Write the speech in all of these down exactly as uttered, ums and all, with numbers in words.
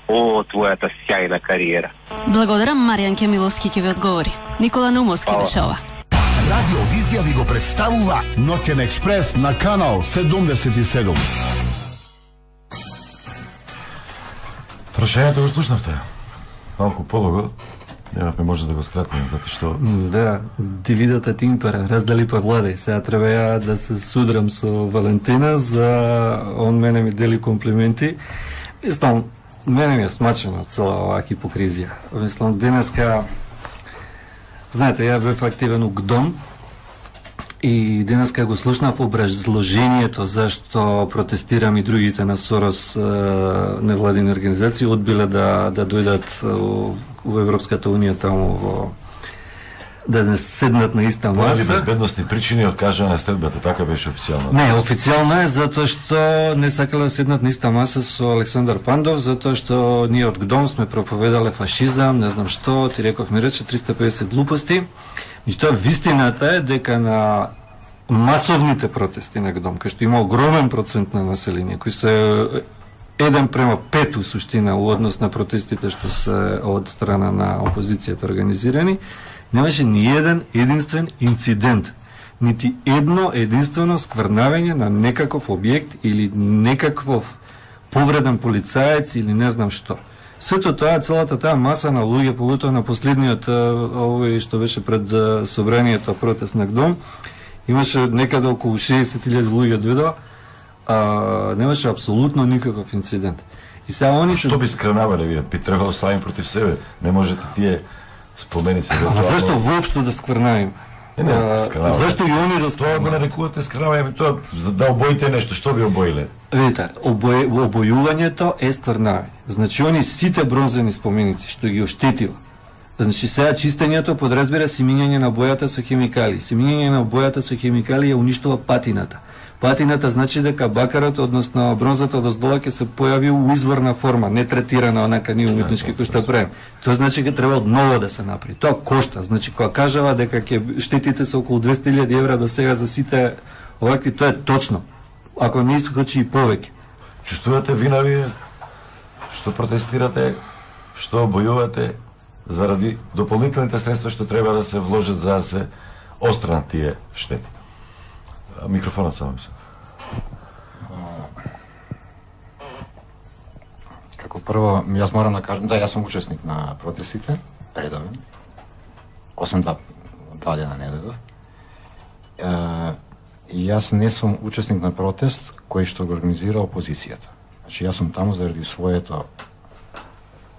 о твојата сјајна кариера. Благодарам, Маријан Кемиловски ќе ви одговори. Никола Наумовски беше ова. Радио Визија ви го представува Ноќен експрес на канал седумдесет и седум. Прашањето го слушнавте. Малку полого. Немавме може да го скратиме, затоа што... Да, дивидата тимпера, раздали па владај. Сега треба ја да се судрам со Валентина, за он мене ми дели комплименти. Мислам, мене ми е смачено цела оваа хипокризија. Мислам, денеска... Знаете, ја бев активен у ГДОМ и денеска го слушнав образложението зашто протестирам и другите на Сорос невладини организации одбиле да, да дојдат во Европската Унија таму во да не седнат на иста маса. Поради безбедностни причини откажана следбата, така беше официјално. Не, официјално е затоа што не сакале да седнат на иста маса со Александар Пандов, затоа што ние од ГДОМ сме проповедале фашизам, не знам што, ти реков ми рече триста и педесет глупости. Меѓутоа вистината е дека на масовните протести на ГДОМ, кај што има огромен процент на население, кои се еден према пет у суштина у однос на протестите што се од страна на опозицијата организирани, немаше ни еден единствен инцидент, нити едно единствено скврнавење на некаков објект или некаков повреден полицаец или не знам што. Сето тоа, целата таа маса на луѓе, поготово на последниот овој што беше пред собранието протест на ГДОМ, имаше некаде околу шеесет илјади луѓе дојдоа, а немаше апсолутно никаков инцидент. И сега они што би скрнавале вие? Би требало сами против себе. Не можете тие спомени се до тоа. Зашто воопшто да скврнавим? Не, не, скрнаваме. Зашто и они да тоа го нарекувате скрнавање, тоа за да обоите нешто, што би обоиле? Видите, обој, обојувањето е скврнавање. Значи они сите бронзени споменици што ги оштетила. Значи сега чистењето подразбира симињање на бојата со хемикали. Симињање на бојата со хемикали ја уништува патината. Патината значи дека бакарот, односно бронзата од оздола ќе се појави у изворна форма, не третирана онака ние уметнички кој што правиме. Тоа значи дека треба одново да се направи. Тоа кошта. Значи кога кажава дека ќе штетите се околу двесте илјади евра до сега за сите овакви, тоа е точно. Ако не искачи и повеќе. Чувствувате вина вие што протестирате, што обојувате заради дополнителните средства што треба да се вложат за да се остранат тие штети? Микрофонот само се. Како прво, јас морам да кажам, да, јас сум учесник на протестите, редовен. осем два два дена не дојдов. И јас не сум учесник на протест кој што го организира опозицијата. Значи, јас сум таму заради своето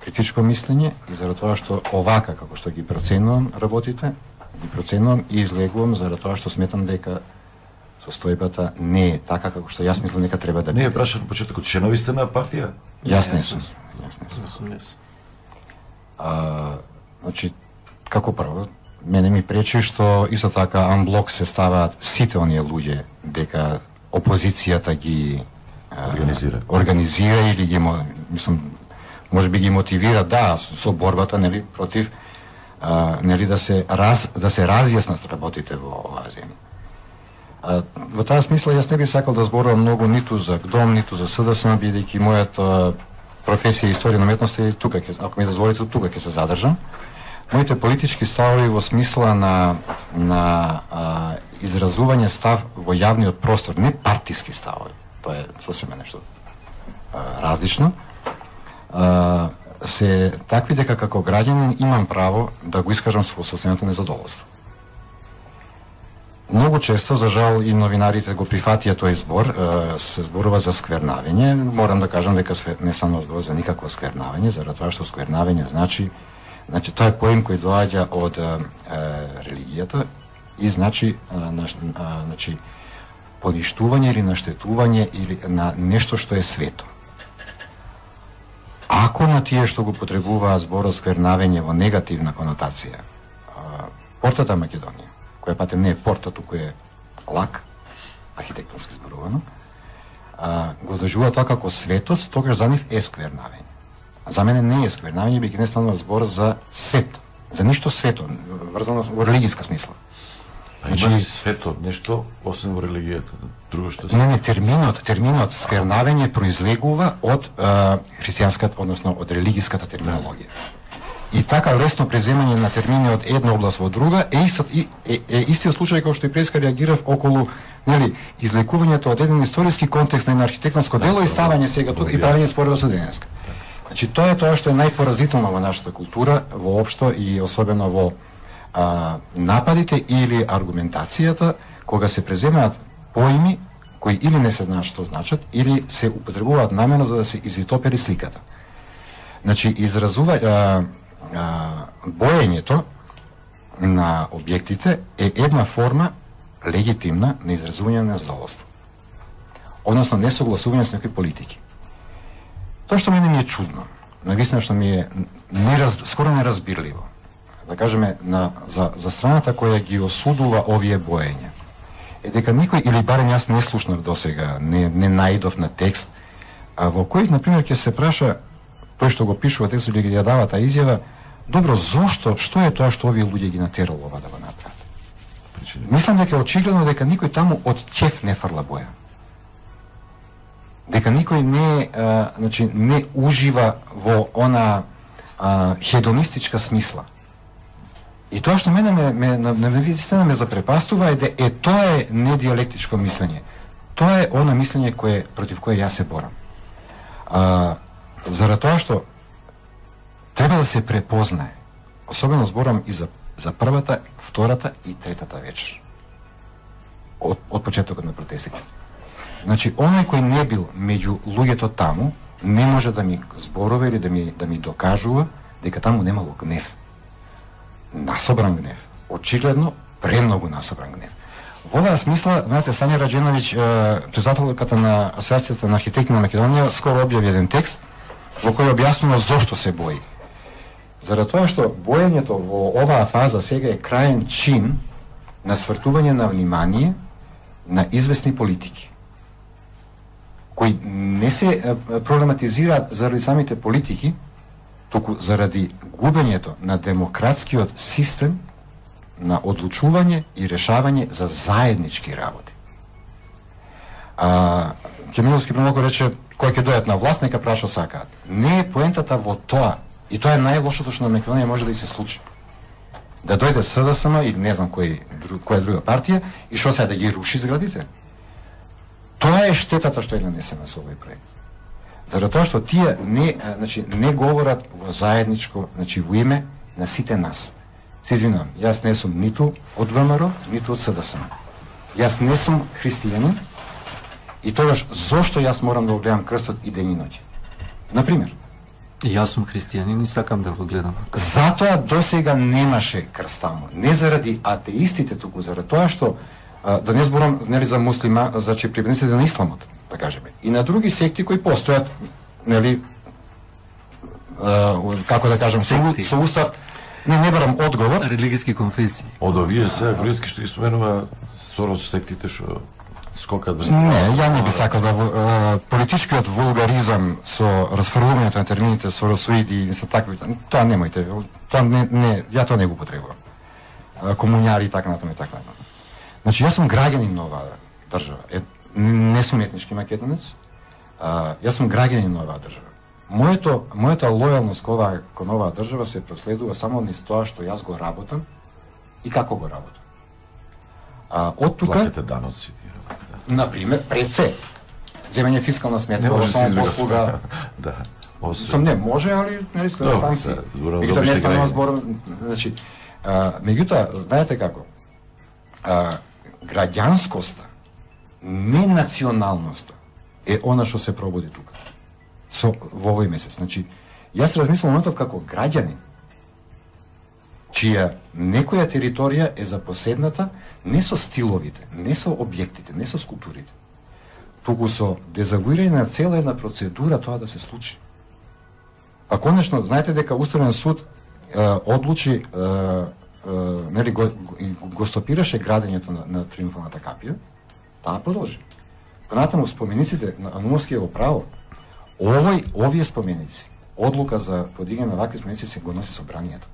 критичко мислење и заради тоа што овака, како што ги проценувам работите, ги проценувам и излегувам заради тоа што сметам дека состојбата не е така како што јас мислам дека треба да биде. Не е прашано на почетокот, членови сте на партија? Јас не сум. Јас не сум. А, значи, како прво, мене ми пречи што исто така анблок се ставаат сите оние луѓе дека опозицијата ги организира, а, организира или ги, мислам, може би ги мотивира, да, со борбата, нели, против, а, нели, да се раз, да се разјаснат работите во оваа земја. А, во таа смисла јас не би сакал да зборувам многу ниту за ГДОМ, ниту за СДСМ, бидејќи мојата професија историја на уметноста е тука, ако ми дозволите, тука ќе се задржам. Моите политички ставови во смисла на на а, изразување став во јавниот простор, не партиски ставови. Тоа е сосема нешто а, различно. А, се такви дека како граѓанин имам право да го искажам со состојањето незадоволство. Многу често, за жал, и новинарите го прифатија тој збор, се зборува за сквернавење. Морам да кажам дека не станува збор за никакво сквернавење, заради тоа што сквернавење значи, значи тоа е поим кој доаѓа од е, религијата и значи, на, значи поништување или наштетување или на нешто што е свето. Ако на тие што го потребуваат зборот сквернавење во негативна конотација, портата Македонија, која патем не е порта, туку е лак, архитектонски зборувано, а, го доживува тоа како светост, тогаш за нив е сквернавење. А за мене не е сквернавење, бидејќи не станува збор за свет, за ништо свето, врзано во религиска смисла. А има ли светот нешто освен во религијата, друго што се? Не, не, терминот, терминот сквернавење произлегува од а, христијанската, односно од религиската терминологија. И така лесно преземање на термини од една област во друга е, истот, е, е, е истиот случај како што и преска реагирав околу, нели, излекувањето од еден историски контекст на едно архитектонско дело и ставање сега тука и правење спорево со денеска. Значи тоа е тоа што е најпоразително во нашата култура воопшто и особено во а, нападите или аргументацијата кога се преземаат поими кои или не се знаат што значат или се употребуваат намерно за да се извитопери сликата. Значи изразува а, а, боењето на објектите е една форма легитимна на изразување на задоволство. Односно несогласување со некои политики. Тоа што мене ми е чудно, навистина што ми е нераз, скоро неразбирливо, да кажеме на, за, за страната која ги осудува овие боења, е дека никој, или барем јас не слушнав досега, не, не наидов на текст, а во кој, например, ќе се праша тој што го пишува текст или ги ја дава таа изјава, добро, зошто, што е тоа што овие луѓе ги натерало ова да го направат? Мислам дека е очигледно дека никој таму од ќеф не фрла боја. Дека никој не, а, значи, не ужива во она а, хедонистичка смисла. И тоа што мене ме, ме, на, на вистина ме запрепастува е, де, е тоа е недиалектичко мислење. Тоа е она мислење кое, против кое јас се борам. А, Заради тоа што треба да се препознае, особено зборам и за, за првата, втората и третата вечер. Од, од почетокот на протестите. Значи, оној кој не бил меѓу луѓето таму, не може да ми зборува или да ми, да ми докажува дека таму немало гнев. Насобран гнев. Очигледно, премногу насобран гнев. Во оваа смисла, знаете, Сања Раџеновиќ, председателката на Асоциацијата на архитекти на Македонија, скоро објави еден текст во кој објаснува зошто се бои. Заради тоа што боењето во оваа фаза сега е крајен чин на свртување на внимание на известни политики, кои не се проблематизираат заради самите политики, туку заради губењето на демократскиот систем на одлучување и решавање за заеднички работи. А, Ќемиловски премногу рече, кој ќе дојдат на власт, нека праша сакаат. Не е поентата во тоа, и тоа е најлошото што на Македонија може да и се случи. Да дојде СДСМ или не знам кој, која друга партија и што сега да ги руши зградите. Тоа е штетата што е нанесена со овој проект. Заради тоа што тие не, значи, не говорат во заедничко, значи во име на сите нас. Се извинувам, јас не сум ниту од ВМРО, ниту од СДСМ. Јас не сум христијанин и тогаш зошто јас морам да го гледам крстот и ден и ноќ? Например. Јас сум христијанин и сакам да го гледам. Затоа досега немаше крст таму. Не заради атеистите, туку заради тоа што а, да не зборам нели за муслима, значи прибедниците на исламот, да кажеме. И на други секти кои постојат, нели а, како да кажам, со, со устав. Не, не барам одговор. Религиски конфесии. Од овие се религиски што ги споменува Сорос сектите што скокат врз. Не, ја не би сакал да а, политичкиот вулгаризам со расфрлувањето на термините соросоиди и се такви, тоа немојте, тоа не, не, ја тоа не го употребувам. Комуњари и така натаму и така натаму. Значи јас сум граѓанин на оваа држава. Е, не сум етнички македонец. А, јас сум граѓанин на оваа држава. Моето, мојата лојалност кон оваа, кон оваа држава се проследува само низ тоа што јас го работам и како го работам. А, од тука... Платите даноци. Например, пред се. Земење фискална сметка, во само послуга... Да. Сам не може, али нели следа санкции. Меѓутоа не станува збор, значи, а, меѓутоа, знаете како? А, граѓанскоста, не националноста е она што се пробуди тука. Со во овој месец. Значи, јас размислам моментов како граѓанин, чија некоја територија е запоседната не со стиловите, не со објектите, не со скулптурите, туку со дезавуирање на цела една процедура тоа да се случи. А конечно, знаете дека Уставен суд е, одлучи, е, е, нели, го, го стопираше градењето на, на Триумфалната капија, таа продолжи. Понатаму спомениците на Анумовскиево право, овој, овие споменици, одлука за подигање на вакви споменици се го носи собранието.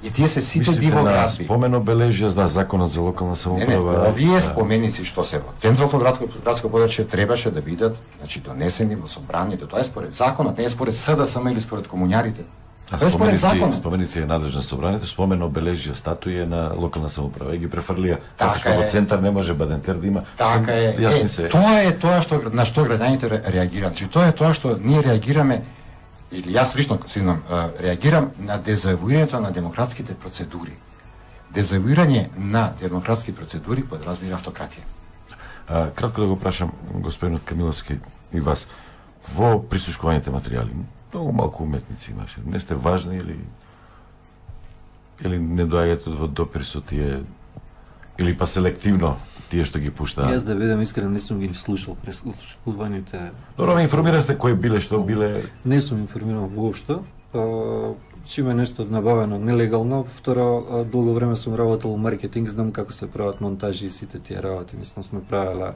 И тие се сите Мислите на дивоградби. спомен обележја за законот за локална Не, самоуправа? не, овие Да. споменици што се во централното градско градско подрачје требаше да бидат, значи донесени во собранието. Тоа е според законот, не е според СДСМ или според комуњарите. А Тоа е според споменици, законот. споменици е надлежна собранието, спомен обележја статуи е на локална самоуправа и ги префрлија. Така Така што во е. центар не може Бадентер да има. Така е. Јасни Е, се. тоа е тоа што на што граѓаните ре- реагираат. Значи тоа е тоа што ние реагираме или јас лично синам реагирам на дезавуирањето на демократските процедури. Дезавуирање на демократски процедури подразбира автократија. А, кратко да го прашам господинот Камиловски и вас. Во прислушкуваните материјали, многу малку уметници имаше. Не сте важни или или не доаѓате во допир со тие или па селективно тие што ги пуштаат? Јас да бидам искрен, не сум ги слушал прескутувањите. Добро, ме информирасте кои биле, што биле. Не сум информиран воопшто. Чиме нешто набавено нелегално, второ, а, долго време сум работел во маркетинг, знам како се прават монтажи и сите тие работи. Мислам, сме правеле,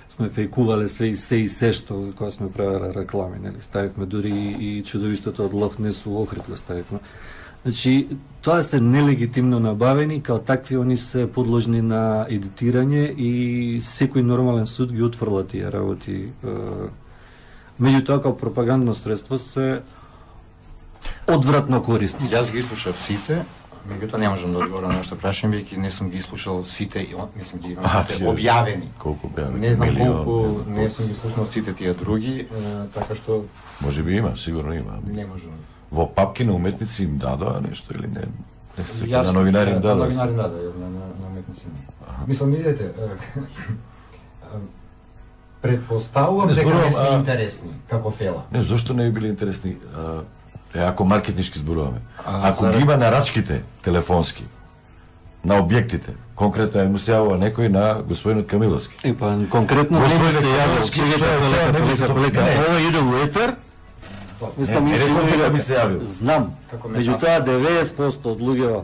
сме фејкувале се и се и се што кога сме правеле реклами, нели? Ставивме дури и, и чудовиштото од Лох Нес у Охрид го ставивме. Значи, тоа се нелегитимно набавени, као такви они се подложни на едитирање и секој нормален суд ги отфрла тие работи. Меѓутоа, као пропагандно средство се одвратно користни. Јас ги слушав сите, меѓутоа не можам да одговорам на што прашам, бидејќи не сум ги слушал сите, и он- мислам ги имам А, сите тие- објавени. Колку објавени? Не знам Милион, колку, не знам не колку. сум ги слушал сите тие други, е, така што Може би има, сигурно има. не можам. Во папки на уметници им дадоа нешто или не? Не се Јас на новинари им на дадоа. новинари им дадоа, на на на уметници. Мислам, видете, е, е, предпоставувам Не дека зборувам, не се а- интересни како фела. Не, зошто не би били интересни? А, е, ако маркетнички зборуваме. А, Ако за- ги има нарачките телефонски на објектите, конкретно е му се јавува некој на господинот Камиловски. И па конкретно не ми Господине се јавил, Камиловски, чекајте, тоа е, тоа полека, не ми се полека, полека. не, не. Ова иде у етер. Мислам, Не, не реков дека инсинуира- ми се јавил. Знам. Како ме Меѓутоа деветдесет проценти од луѓето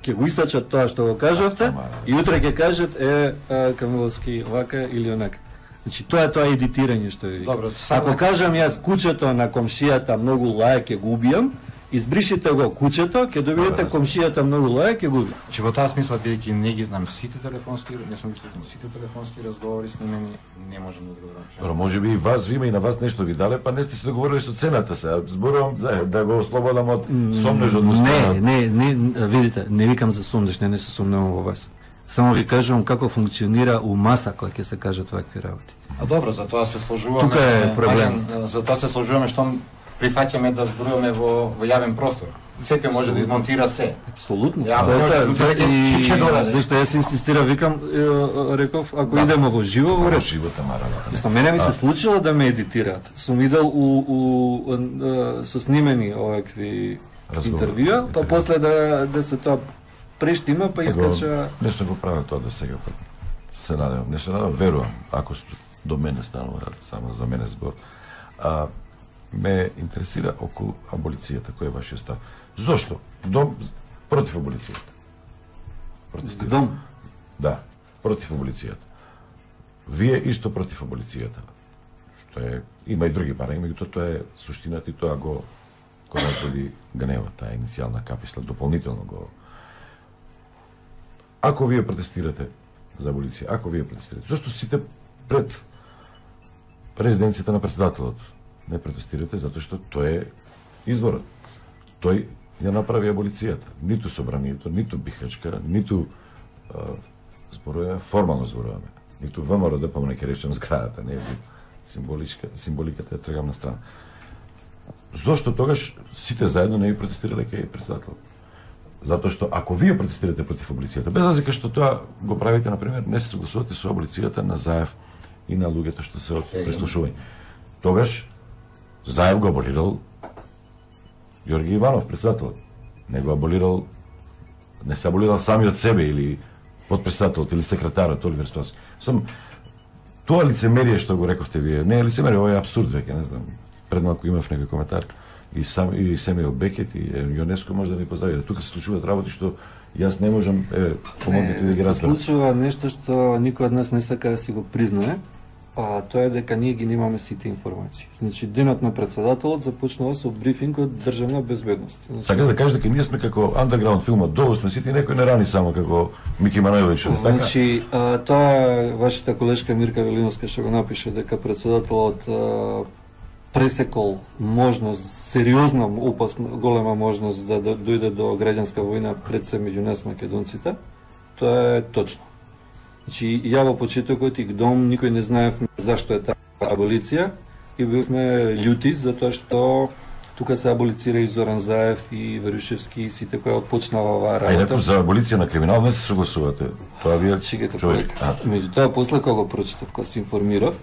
ќе го истачат тоа што го кажавте Ама, и утре ќе кажат е а, Камиловски вака или онака. Значи тоа е тоа едитирање што ви. Добро, сад- Ако кажам јас кучето на комшијата многу лаја ќе го убијам, избришите го кучето, ќе добиете комшијата многу лаја ќе го убијам. Значи во таа смисла, бидејќи не ги знам сите телефонски, не сум ги слушал сите телефонски разговори снимени, не можам да одговорам. Добро, може би и вас ви има и на вас нешто ви дале, па не сте се договорили со цената се. Зборувам за да го ослободам од сомнеж од Не, устанот. не, не, видите, не викам за сомнеш, не, не се сомневам во вас. Само ви кажувам како функционира у маса кога ќе се кажат вакви работи. А добро, за тоа се сложуваме. Тука е проблемот. Маријан, за тоа се сложуваме што прифаќаме да зборуваме во во јавен простор. Секој може да измонтира се. Апсолутно. Ја, Тоа е тоа. може, За- ќе- и- ќе додаде. Зашто јас инсистирав, викам, е, реков, ако идемо во живо, во Во ред. живота мара. Мислам, мене ми се случило да ме едитираат. Сум идел у, у, у со снимени овакви Разговори, интервјуа, па интервју. после да да се тоа прештима, па искача. Не сум го правил тоа до сега, па се надевам, не се надевам, верувам, ако с- до мене станува само за мене збор. А, ме интересира околу аболицијата, кој е вашиот став? Зошто? Дом против аболицијата. Протестирате? Дом. Да, против аболицијата. Вие исто против аболицијата. Што е, има и други парања, меѓутоа тоа е суштината и тоа го го разбуди гневот, таа иницијална каписла, дополнително го. Ако вие протестирате за аболиција, ако вие протестирате, зашто сите пред резиденцијата на председателот не протестирате, затоа што тој е изборот. Тој ја направи аболицијата. Ниту собранието, ниту Бихачка, ниту а, зборуваме, формално зборуваме. Ниту ВМРО ДП, не ќе речем зградата, не е символичка, символиката ја тргам на страна. Зошто тогаш сите заедно не ви протестирале кај председателот? Затоа што ако вие протестирате против аболицијата, без разлика што тоа го правите, например, не се согласувате со аболицијата на Заев и на луѓето што се од преслушување. Тогаш Заев го аболирал Јорги Иванов, председателот. Не го аболирал, не се аболирал сами од себе или подпредседателот или секретарот Оливер Спасовски. Сам тоа лицемерие што го рековте вие, не е лицемерие, ова е апсурд веќе, не знам. Пред малку имав некој коментар и сам и Семејо Бекет и ЮНЕСКО може да ни позави. Тука се случуваат работи што јас не можам, е, помогнете да ги се разберам. случува нешто што никој од нас не сака да си го признае. а тоа е дека ние ги немаме сите информации. Значи, денот на председателот започнува со брифинг од државна безбедност. Значи, Сакате да кажете дека ние сме како андерграунд филмот, долу сме сите и некој не рани само како Мики Манојлович. Значи, а, тоа е вашата колешка Мирка Велиновска што го напише дека председателот а, пресекол можност, сериозна, опасна, голема можност да, да дојде до граѓанска војна пред се меѓу нас македонците. Тоа е точно. Значи, ја во почетокот и ГДОМ никој не знаев зашто е таа аболиција и бевме љути затоа што тука се аболицира и Зоран Заев и Верушевски и сите кои отпочнава оваа А и работа. некој за аболиција на криминал не се согласувате. Тоа вие Чекайте, човек. а, меѓутоа после кога го прочитав, кога се информирав,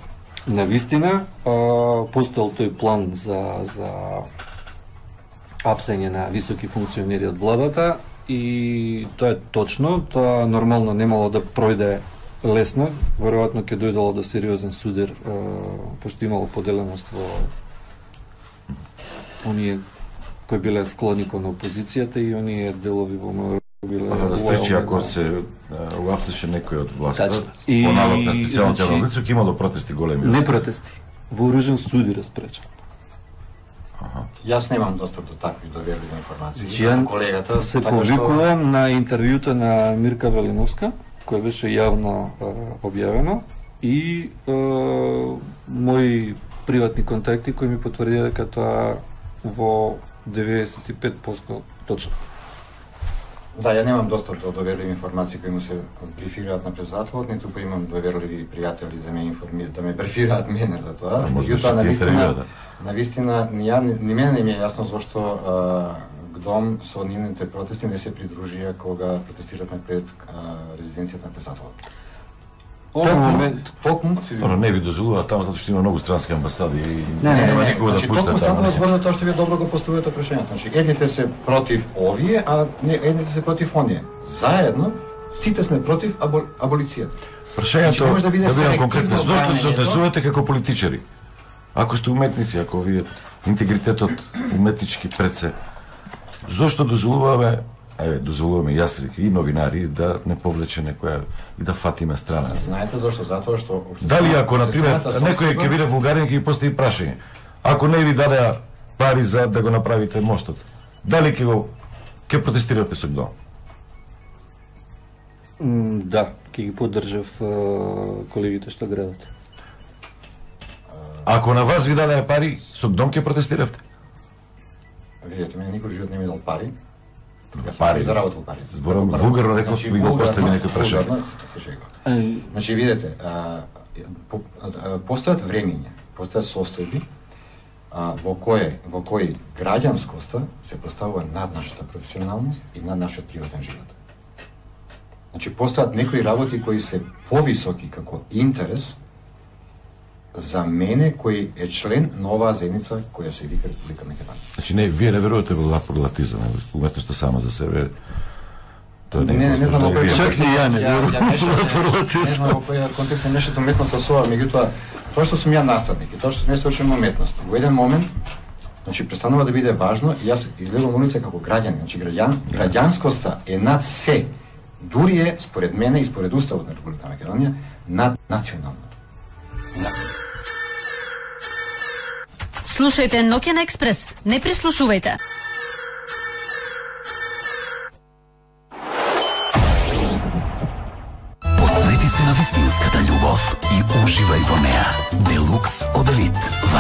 на вистина а, постоел тој план за за апсење на високи функционери од владата и тоа е точно, тоа нормално немало да пројде лесно, веројатно ќе дојдело до сериозен судир, а, пошто имало поделеност во оние кои биле склони кон опозицијата и оние делови во МВР биле Ага, да спречи лојални ако на- се уапсеше некој од власта. Тачно. По И, налог на специјалните значи, организации ќе имало протести големи. Не протести, вооружен судир спреча. Јас немам достап до такви доверливи информации. Значи, ја колегата се така што- повикувам на интервјуто на Мирка Велиновска, кој беше јавно е, објавено и е, мои приватни контакти кои ми потврдија дека тоа во деветдесет и пет проценти точно. Да, ја немам достап до доверливи информации кои му се брифираат на председателот, ниту па имам доверливи пријатели да ме информираат, да ме брифираат мене за тоа. А, може да Меѓутоа, ќе на ти вистина, интервјуа, да. на вистина, ни ја, ни мене не ми е јасно зошто а, ГДОМ со нивните протести не се придружија кога протестиравме пред а, резиденцијата на председателот. Овој момент Токму, се Оно извинувам. не ви дозволува таму затоа што има многу странски амбасади и Не, не, нема Не, никога да значи, пушта токму таму. станува збор за тоа што вие добро го поставувате прашањето. Значи, едните се против овие, а не, едните се против оние. Заедно, сите сме против або, аболицијата. Прашањето Значи, не може да биде да бидам селективно конкретно, зошто се бранењето? однесувате како политичари? Ако сте уметници, ако ви интегритетот уметнички пред се, зошто дозволуваме, еве, дозволуваме јас и новинари да не повлече некоја и да фатиме страна? Знаете зошто? Затоа што Дали ако, например, обществената некој собственост- ќе биде вулгарен, ќе ги постави прашање. Ако не ви даде пари за да го направите мостот, дали ќе го ќе протестирате со ГДО? м, да, ќе ги поддржав е, колегите што градат. Ако на вас ви даде пари, со ГДО ќе протестиравте? Видете, мене никој живот не ми дал пари. Јас Пари. сум заработил пари. Зборам, Како прво. вулгарно реков, ви го вулгарно- постави некој прашање. вулгарно се- се шегува. Е, Значи, видете, а, по, а, постојат времиња, постојат состојби а, во кои во кои граѓанскоста се поставува над нашата професионалност и над нашиот приватен живот. Значи, постојат некои работи кои се повисоки како интерес за мене кој е член на оваа заедница која се вика Република Македонија. Значи, не, вие не верувате во лапорлатизам, уметноста сама за себе. Тоа не, е Не, не, не знам што во е вие. кој Чак ни ја не верувам ја мешам- во лапорлатизам. Не знам во кој контекст се мешат уметноста со ова, меѓутоа тоа што сум ја наставник и тоа што сум ја учен уметност, во еден момент значи престанува да биде важно и јас излегувам на улица како граѓанин, значи граѓан, граѓанскоста е над се. Дури е според мене и според уставот на Република Македонија над националното. Слушајте Ноќен експрес, не прислушувајте. Посвети се на вистинската љубов и уживај во неа. Делукс од Елит.